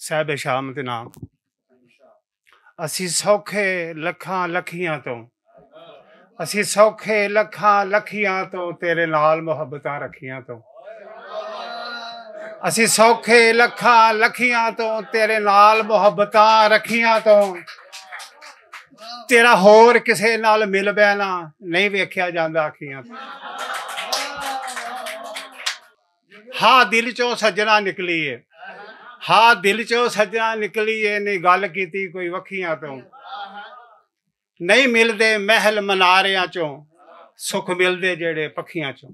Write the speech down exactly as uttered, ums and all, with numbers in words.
صاحب شام دے نام۔ اسی سوکھے لکھاں لکھیاں تو، اسی سوکھے لکھاں لکھیاں تو تیرے نال محبتاں رکھیاں تو، اسی سوکھے لکھاں لکھیاں تو تیرے نال محبتاں رکھیاں تو، تیرا ہور کسے نال مل بینا نہیں ویکھیا جاندا اکھیاں تو۔ ہا دل چوں سجنا نکلی ہے، ہا دل چوں سجنا نکلی ہے، نہیں گل کیتی کوئی وکھیاں تو۔ نہیں ملدے محل مناریاں چوں، سکھ ملدے جڑے پکھیاں چوں۔